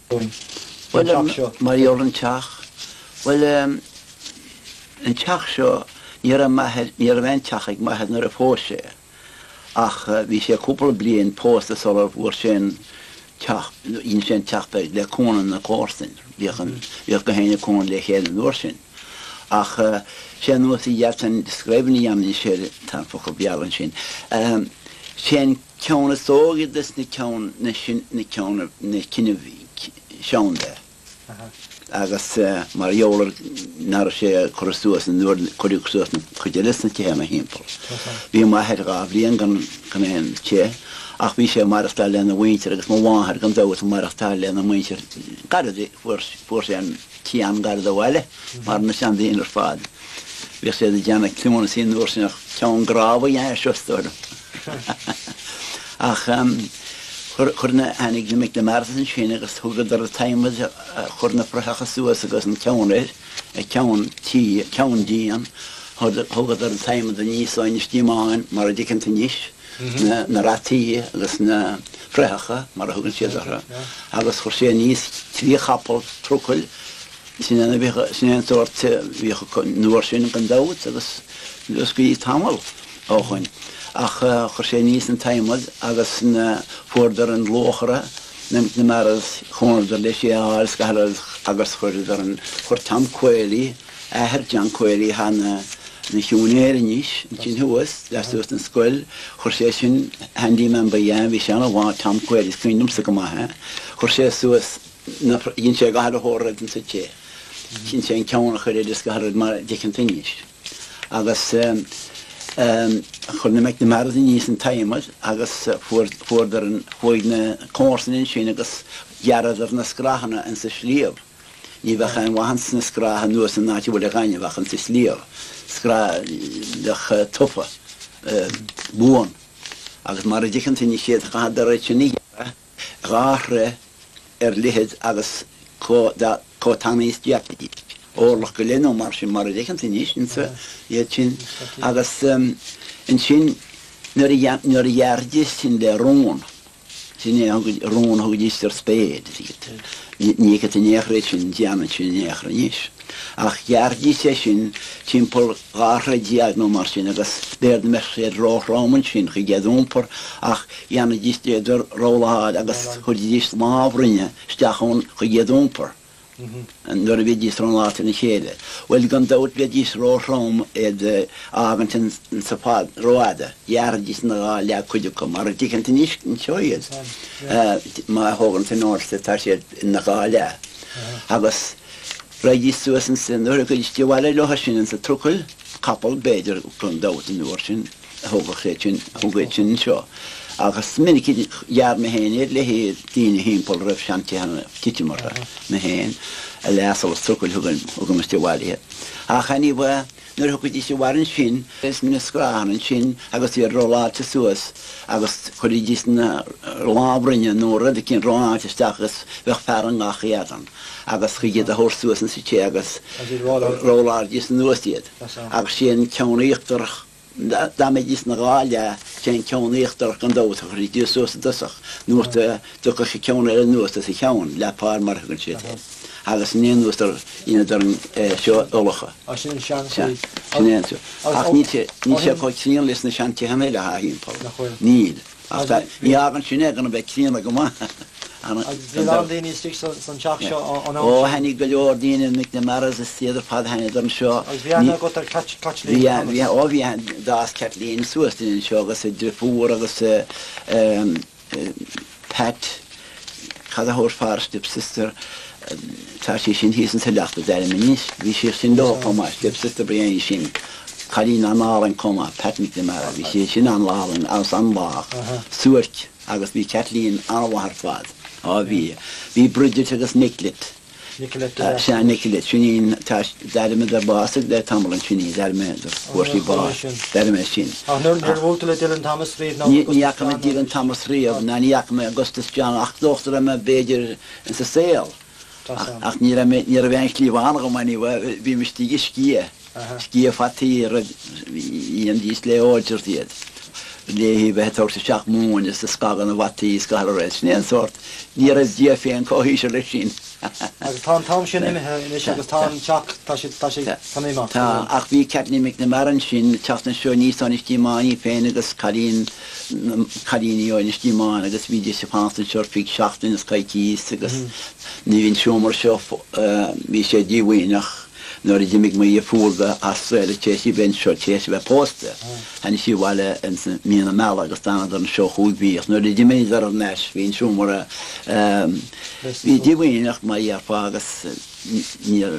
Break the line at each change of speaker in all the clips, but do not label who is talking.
dúinn faoin teach seo.
Mar gheall ar an teach, bhuel, an teach seo, ní raibh m'athair, ní raibh aon teach ag m'athair nuair a phós sé, ach bhí sé cúpla bliain pósta sular bhfuair sé an teach, dhein sé an teach beag le cúnamh na comharsan, bhíodh an, bhíodh gach éinne ag cúnamh le chéile an uair sin. Ach sé an nós a dhéanann describing a dhéanann sé, tá an focal Béarla ansin, sé an ceann is óige des na ceann, na sin, na ceann, na cinn a bhí sean de. Agus mar gheall ar nach raibh sé curtha suas an uair a cuireadh suas na cuid eile sna tithe ina thimpeall. Bhí m'athair 2 bhliain gan gan aon tigh ach bhí sé ag maireachtáil lena mhuintir agus mo mháthair gan dabht ag maireachtáil lena muintir gairid fuair fuair sé an tigh an-ghairid ó bhaile mar na seandaoine ar fad. Bhíodh siad ag déanamh cluanasaí an uair sin ach ceann grámh a dhéanamh air seo is dóigh liom. Ach chuir na, tháinig na McNamaras ansin agus thugadar an t-adhmad, chuir na frathacha suas agus an ceann air, an ceann tí, ceann díon, thugadar an t-adhmad aníos ó Inis Díomáin mar a dtuigeann tú anois, na rataí agus na frathacha mar a thugann siad orthu, agus chuir sé aníos 3 chapall trucail, Sin é bhíodh, sin é an sórt a bhíodh acu an uair sin gan dabht agus go dtí tamall ó shoin. Ach chuir sé aníos an t-adhmad agus na, fuaireadar an luachra, na McNamaras, chúnadar leis é a fháil is gach uile rud agus chuireadar an, chuir Tom Quealy, athair John Quealy atá ina, ina shiúinéir anois ansin thuas, lastuas den scoil, chuir sé sin, handyman ba ea é, bhí sé an-mhaith, Tom Quealy, is cuimhin liomsa go maith é, chuir sé suas, Dhein sé gach uile shórt rud insa tigh. Dhein sé an ceann a chur air is gach uile rud mar a d'fheiceann tú anois. Agus chuir na McNamaras aníos an t-adhmad agus fuair, fuaireadar an, chuaigh na comharsana ansin agus ghearradar na scrathanna insa sliabh. Ní bheadh aon mhaith ins na scratha anuas san áit a bhfuil an ghaineamh ach insa sliabh. Scraith bheadh tofa, buan. Agus mar a d'fheiceann tú anois iad, chaitheadar iad sin a ghearradh. 2 throigh ar leithead agus chomh tanaí is d'fhéadfaidís, orlach go leith nó mar sin, mar a d'fheiceann tú anois insa iad sin. Agus ansin nuair a nuair a ghearraidís sin le rón, sin é a thug, rón a thugaidís ar spade, ní fheicfidh tú in aon chor iad sin, déanann sin in aon chor anois. Ach ghearraidís é sin timpeall 12 throigh nó mar sin agus b'fhéidir go mbeadh siad róthrom ansin chuig iad iompar ach dhéanaidís iad a rolláil agus chuiridís lámhrinne isteach ann chuig iad iompar nuair a bhídís rolláilte ina chéile. Bhuel, gan dabht bheidís róthrom iad a fhágaint ansa fad, rófhada. Ghearraidís ina dhá leath cuid acu, mar a d'fheiceann tú anois anseo iad. Má thógann tú in airde tá siad ina dhá leath. Agus raghaidís suas ansin, nuair a thigeadh siad abhaile leo sin insa trucail, capall b'fhéidir, gan dabht an uair sin. a thógadh siad sin, a thug iad sin anseo. Agus is minic a ghearr mé féin iad le daoine thimpeall a raibh seantithe ag titim orthu, mé féin, le asal is trucail thugaimis abhaile iad. Ach anyway, nuair a thigeadís abhaile ansin, is na scrathanna ansin agus iad rolláilte suas agus chuiridís na lámhrinne nó rud eicínt rolláilte isteach agus bheadh fear i ngach éadan agus chuig iad a thabhairt suas insa tigh agus rolláidís anuas iad agus sé an ceann íochtarach Dá mbeidís ina dhá leath, sé an ceann íochtarach gan dabht a chuirfidís suas i dtosach, nuair a dtiocfadh an ceann eile anuas as a cheann, leath-pár mar a thugann siad air, agus an aon uastar dheineadar an seo ulachadh.
Á, sin an seanchaoi.
Sin é an seo. Ach níl sé, níl sé chomh críonna leis na seantithe eile atá thimpeall.
Nach bhfuil?
Níl. Ach tá, ní fhágann sin é gan a bheith críonna go maith.
Agus bhí a lán daoine istigh san teach seo an am
Ó,
sin?
tháinig go leor daoine, McNamaras is iad ar fad, tháinigeadar anseo.
Agus bhí aithne agat ar Caitlín
Bhí,
Thomas?
bhí, ó bhí, d'fhás Caitlín suas linn anseo agus a driofúr agus Pat, cad a thabharfá ar stepsister, tá sí sin thíos insa Leacht a deirim anois, bhí sí sin leo chomh maith, stepsister ba ea í sin, cailín an-álainn chomh maith, Pat McNamara, bhí sí sin an-álainn agus an-lách, suairc agus bhí Kathleen an-mhaith ar fad, á bhí, bhí Bridget agus Nicolette.
Nicolette.
Sea, Nicolette, sin í an, tá, d'airigh mé gur bhásaigh le tamall ansin í, d'airigh mé gur fuair sí bás, d'airigh mé sin.
Ach níor, níor bhuail tú le Dylan Thomas riamh
ná Ní, ní fhaca mé Dylan Thomas riamh, ná ní fhaca mé Augustus John ach dócha go raibh mé b'fhéidir insa saol. Ach ní raibh mé, ní raibh aon chliabhán agam anyway, bhí mé istigh ag sciath, sciath fataí a raibh, dhéanaidís le Odgers iad. léi bheith ag tabhairt isteach móin is ag scagadh na bhfataí is gach uile rud. Sin é an sórt, ní raibh Dia féin chomh híseal leis sin.
Agus tá an t-am sin imithe anois agus tá an teach, tá sé, tá sé, tá an imeacht.
Tá, ach bhí Kathleen McNamara ansin ag teacht anseo aníos ó Inis Díomáin í féin agus cailín, cailíní ó Inis Díomáin agus bhídís ag fanacht anseo ar feadh seachtain is coicís agus ní bhí an seomra seo, bhí sé díomhaoineach. Nuair a d'imigh mo dheirfiúr go Astráile tar éis di bheith anseo, tar éis a bheith pósta, tháinig sí abhaile ins mí na meala agus d'fhanadar anseo chúig mhí ach nuair a d'imíodar thar n-ais bhí an seomra bhí díomhaoineach mar a dhéarfá agus níor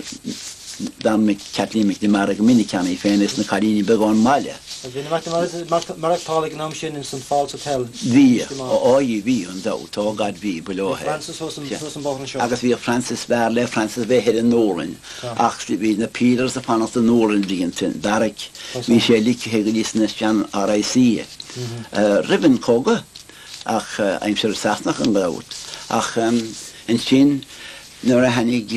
d'fhan Kathleen McNamara go minic ann í féin agus na cailíní beaga ón mbaile.
Bhí na McNamaras ag maireachtáil ag an am sin ins an Falls Hotel
Bhí, á bhí, gan dabht, oh God bhí, ba leo
é. Bhí Francis thuas an bóthar anseo.
Agus bhíodh Francis, b'fhearr le Francis bheith thoir i nDúlainn ach bhí na peelers ag fanacht i nDúlainn an bhliain sin, beairic, bhí sé ligthe go dtí sna sean RIC roimh an cogadh ach aimsir na Sasanach gan dabht. Ach ansin nuair a tháinig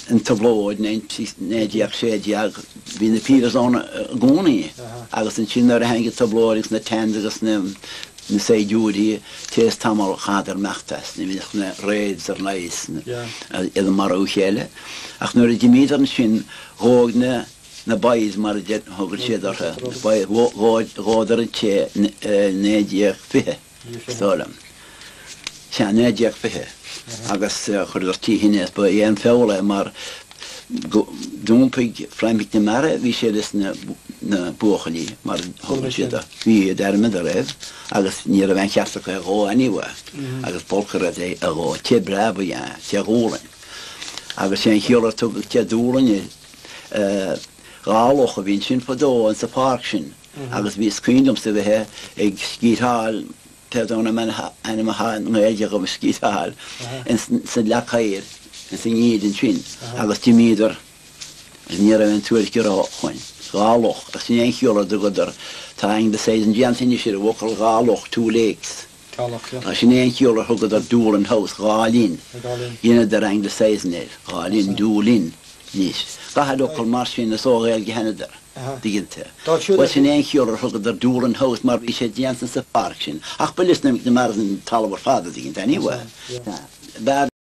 an trioblóid, 1916, bhí na peelers ann i gcónaí agus ansin nuair a tháinig an trioblóid agus na Tans agus na saighdiúirí, tar éis tamall chaitheadar imeacht as, ní bhíodh na raids ar nós iad ag marú a chéile. Ach nuair a d'imíodar ansin, dhóigh na na boys mar a thugann siad orthu, boys, dhódar an tigh i 1920. Is dóigh liom. Sea, 1920 agus chuireadar trí thine as ba é an feall é mar go d'iompaigh Frank McNamara, bhí sé leis na na buachaillí mar a thugann siad orthu. Bhí d'airmeadar air agus ní raibh aon cheart acu é a dhó anyway agus b'olc a raibh é a dhó. Tigh breá ba ea é, Tigh Dhúlainn. Agus sé an chiall ar tugadh Tigh Dúlainn air, dhá loch a bhí ansin fadó insa pháirc sin. Agus bhí is cuimhin liomsa bheith ag sciatáil, pé domhan an ainm atá i nGaeilge agam, sciatáil, ins an leac oighir, ins an ngeimhreadh ansin, agus d'imíodar, agus ní raibh aon tuairisc ar ó shoin. Dhá loch, agus sin é an chiall ar dtugadar, tá anglicizing déanta anois ar an bhfocal dhá loch, two lakes.
Dhá loch, yeah.
Sin é an chiall ar thugadar Doolin House, dhá linn.
Dhá linn.
Dheineadar anglicizing air, dhá linn, Doolin, anois. Gach uile fhocal mar sin, is ó Ghaeilge a thánadar. Tuigeann tú. Bhuel, sin é an chiall ar thugadar Doolin House mar bhí sé déanta sa pháirc sin. Ach ba leis na McNamaras an talamh ar fad, a dtuigeann tú, anyway. B'fhearr.